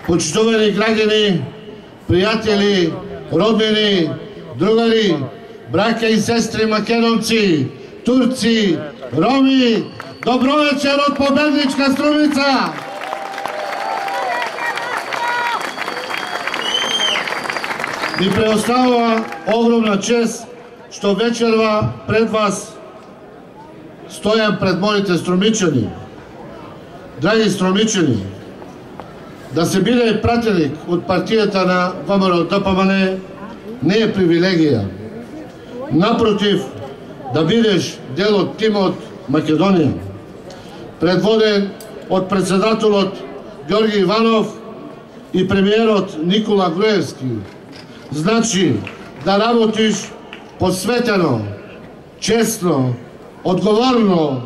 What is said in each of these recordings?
почитувани граѓани, пријатели, роднини, другари, браќа и сестри македонци, турци, роми, добро вечер од победничка Струмица! Ми преоставува огромна чест што вечерва пред вас стојам пред моите струмичани. Драги струмичани, да се биде пратеник од партијата на ВМРО-ДПМН не е привилегија. Напротив, да бидеш дел од тимот Македонија, предводен од председателот Ѓорги Иванов и премиерот Никола Груевски, значи да работиш посветено, честно, одговорно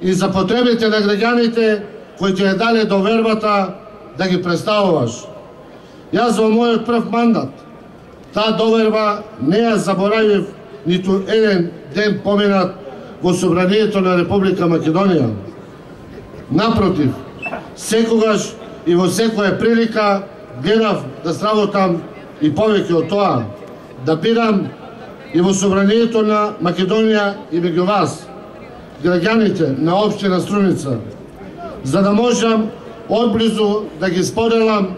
и за потребите на граѓаните кои ти ја дале довербата да ги представуваш. Јас во мојот прв мандат таа доверба не ја заборавив ниту еден ден поминат во Собранието на Република Македонија. Напротив, секогаш и во секоја прилика гледав да сработам и повеќе од тоа, да бидам и во Собранието на Македонија и меѓу вас, граѓаните на општина Струмица, за да можам одблизу да ги споделам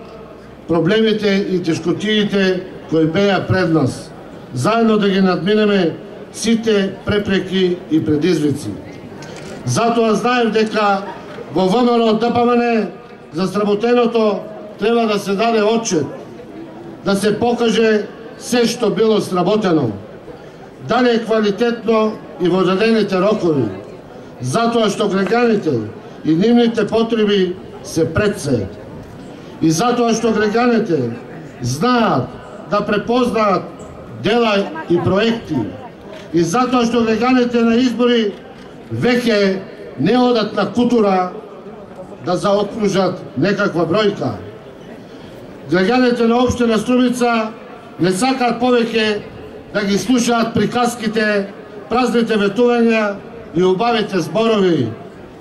проблемите и тешкотиите кои беа пред нас, заедно да ги надминеме сите препреки и предизвици. Затоа знаев дека во ВМРО-ДПМН за сработеното треба да се даде отчет, да се покаже се што било сработено, дали е квалитетно и во дадените рокови, затоа што граѓаните и нивните потреби се пред се. И затоа што граѓаните знаат да препознаат дела и проекти. И затоа што граѓаните на избори веќе не одат на кутура да заокружат некаква бројка. Граѓаните на општина Струмица не сакаат повеќе да ги слушаат приказките, празните ветувања и убавите зборови.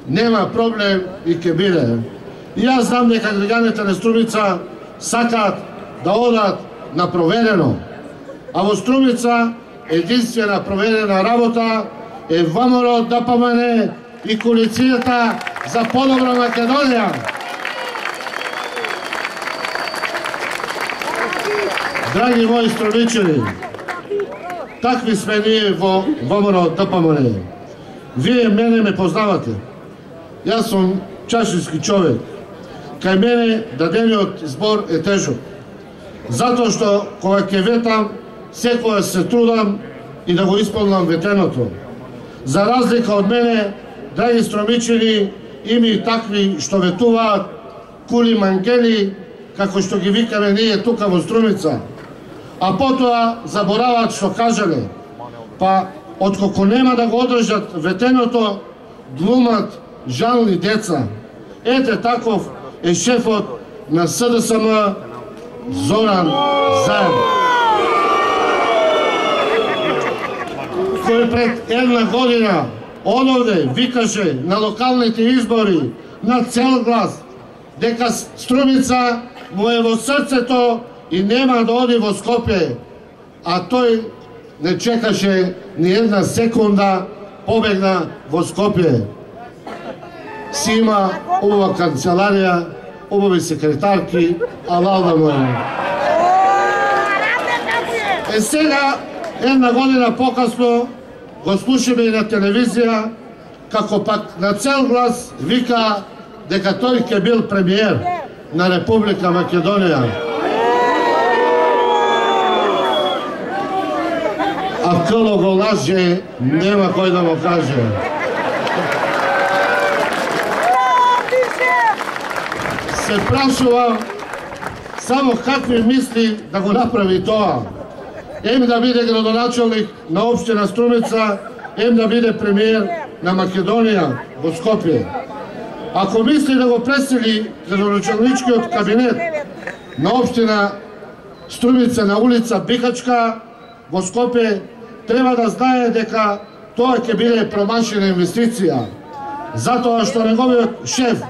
Нема проблем и ќе биде. И јас знам дека граѓаните на Струмица сакаат да одат на проверено. А во Струмица единствена проверена работа е ВМРО-ДПМН и коалицијата за подобра Македонија. Драги мои струмичани, такви сме ние во ВМРО-ДПМН. Вие мене ме познавате. Јас сум чашински човек. Кај мене дадениот збор е тежок. Затоа што кога ќе ветам, секоја се трудам и да го исполнам ветеното. За разлика од мене, драги струмичани, има и такви што ветуваат кули мангели, како што ги викаме ние тука во Струмица. А потоа забораваат што кажале. Па, откако нема да го одржат ветеното, глумат жални деца. Ете таков е шефот на СДСМ Зоран Заев, кој пред една година одовде викаше на локалните избори на цел глас дека Струмица му е во срцето и нема да оди во Скопје, а тој не чекаше ни една секунда, побегна во Скопје. Си има убава канцеларија, убави секретарки, алал да му е. Е сега, една година покасно, го слушаме и на телевизија, како пак на цел глас вика дека тој ќе бил премиер на Република Македонија. А къло го лаже, нема кој да му каже. Се прашувам само какви мисли да го направи тоа. Ем да биде градоначалник на општина Струмица, ем да биде премиер на Македонија во Скопје. Ако мисли да го пресели градоначалничкиот кабинет на општина Струмица на улица Бихачка во Скопје, треба да знае дека тоа ќе биде промашена инвестиција. Затоа што неговиот шеф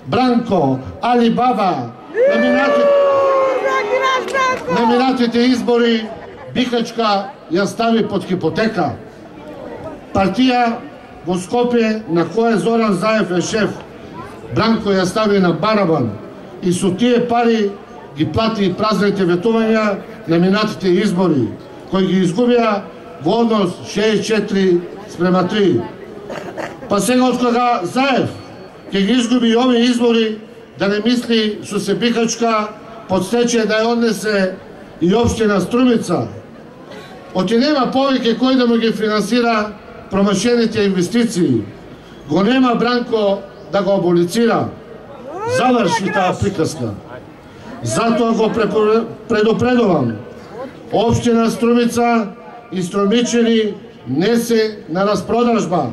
Бранко Али Баба на минатите на минатите избори Бихачка ја стави под хипотека. Партија во Скопје на која Зоран Заев е шеф, Бранко ја стави на барабан и со тие пари ги плати празните ветувања на минатите избори, кои ги изгубија во однос 64:3. Па сега од кога Заев ќе ги изгуби овие избори, да не мисли со се Бихачка под стечај да ја однесе и општина Струмица. Оти нема повеќе кој да му ги финансира промашените инвестиции. Го нема Бранко да го аболицира. Заврши таа приказка. Затоа го предупредувам. Општина Струмица и Струмичани не се на распродажба.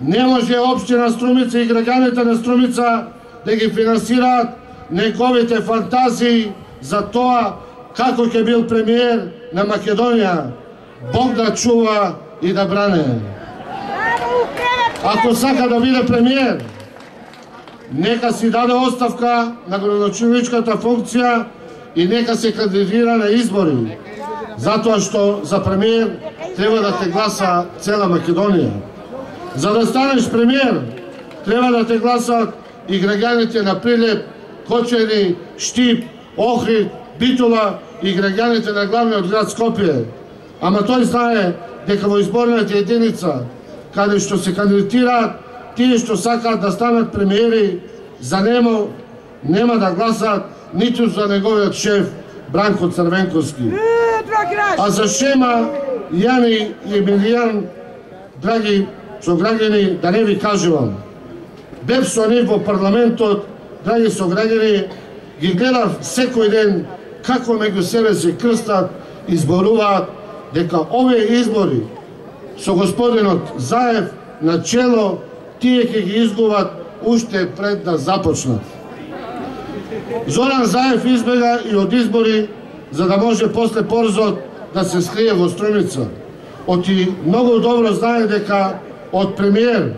Не може општина Струмица и граѓаните на Струмица да ги финансираат неговите фантазии за тоа како ќе бил премиер на Македонија. Бог да чува и да бране. Ако сака да биде премиер, нека си даде оставка на градоначалничката функција и нека се кандидира на избори, затоа што за премиер треба да те гласа цела Македонија. За да станеш премиер, треба да те гласат и граѓаните на Прилеп, Кочени, Штип, Охрид, Битола и граѓаните на главниот град Скопје. Ама тој знае дека во изборната единица, каде што се кандидатираат тие што сакаат да станат премиери, за него нема да гласат ниту за неговиот шеф Бранко Црвенковски. А за шема Јани и Емилијан, драги сограѓани, да не ви кажувам. Бев со нив во парламентот, драги сограѓани, ги гледав секој ден како меѓу себе се крстат и зборуваат дека овие избори со господинот Заев на чело, тие ќе ги изгубат уште пред да започнат. Зоран Заев избега и од избори за да може после порзот да се скрие во Струмица. Оти многу добро знае дека од премиер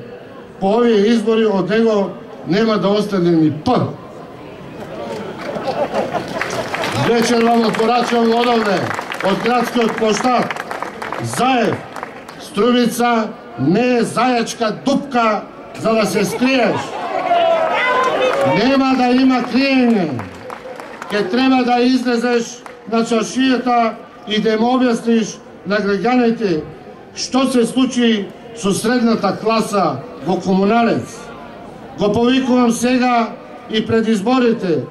по овие избори од него нема да остане ни П. Вечер вам отпорачувам одовне, од градскиот площад. Заев, Струмица не е зајачка дупка за да се скриеш. Нема да има криење. Ке треба да излезеш на чашијата и да им објасниш на граѓаните што се случи со средната класа во Комуналец. Го повикувам сега и пред изборите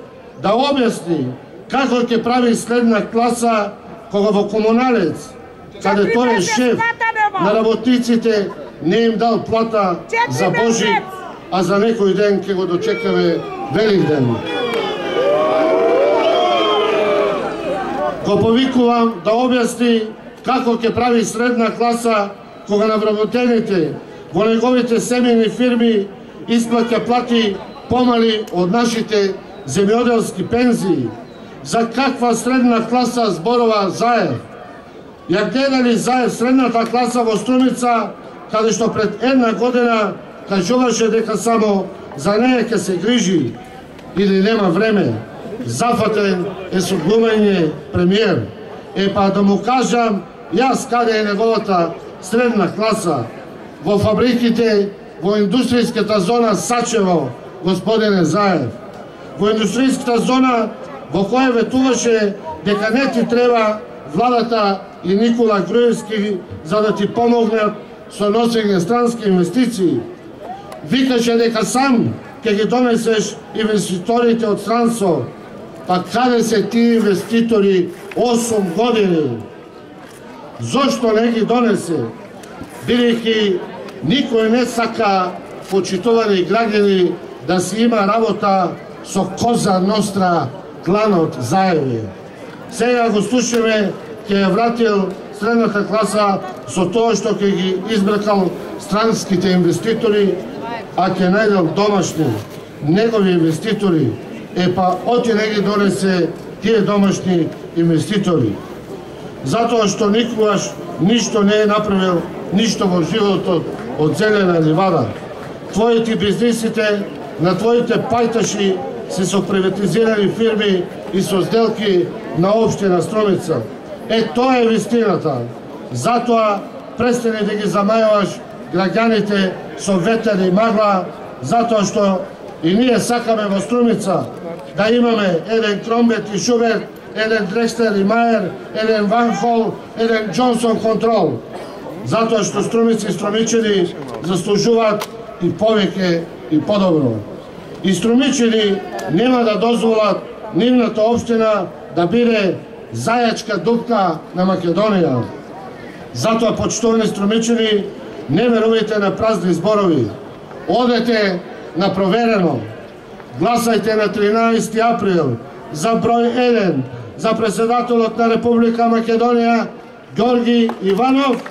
да објасни како ќе прави средна класа кога во Комуналец, каде тој е шеф на работниците, не им дал плата за Божик, а за некој ден ќе го дочекаме Великден. Го повикувам да објасни како ќе прави средна класа кога на вработените во неговите семејни фирми исплаќа плати помали од нашите земјоделски пензии. За каква средна класа зборува Заев? Ја гледали Заев средната класа во Струмица, каде што пред една година кажуваше дека само за неја ќе се грижи или нема време. Зафатен е со глумење премиер. Па да му кажам јас каде е неговата средна класа. Во фабриките, во индустријската зона Сачево, господине Заев. Во индустријската зона во која ветуваше дека не ти треба владата и Никола Груевски за да ти помогнат со носење странски инвестиции. Викаше дека сам ќе ги донесеш инвеститорите од странство. Па каде се тие инвеститори 8 години? Зошто не ги донесе? Бидејќи никој не сака, почитувани граѓани, да си има работа со Коза Ностра, кланот Заеви. Сега го слушаме, ќе ја вратил средната класа со тоа што ќе ги избракал странските инвеститори, а ќе најдел домашни, негови инвеститори. Па оти не ги донесе тие домашни инвеститори. Затоа што никогаш ништо не е направил, ништо во животот од зелена ливада. Твоите бизнисите, на твоите пајташи се со приватизирани фирми и со сделки на општина Струмица. Тоа е вистината. Затоа престани да ги замајуваш граѓаните со ветер и магла, затоа што и ние сакаме во Струмица да имаме еден Кромбет и Шуберт, еден Дрекстер и Мајер, еден Ван Хол, еден Джонсон Контрол. Затоа што Струмици и струмичани заслужуваат и повеќе и подобро. И струмичани нема да дозволат нивната општина да биде зајачка дупка на Македонија. Затоа, почитувани струмичани, не верувајте на празни зборови. Одете на проверено. Гласајте на 13 април за број 1 за председателот на Република Македонија Ѓорги Иванов,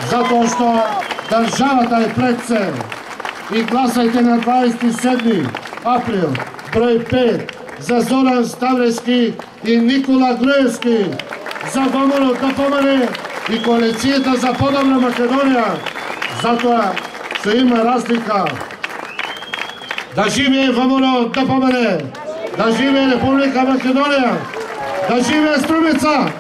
затоа што државата е пред се. И гласајте на 27 април број 5 за Зоран Ставрески и Никола Груевски, за ВМРО да помане и коалицијата за подобра Македонија. Затоа што има разлика. Да живее ВМРО да помане, да живее Република Македонија, да живее Струмица!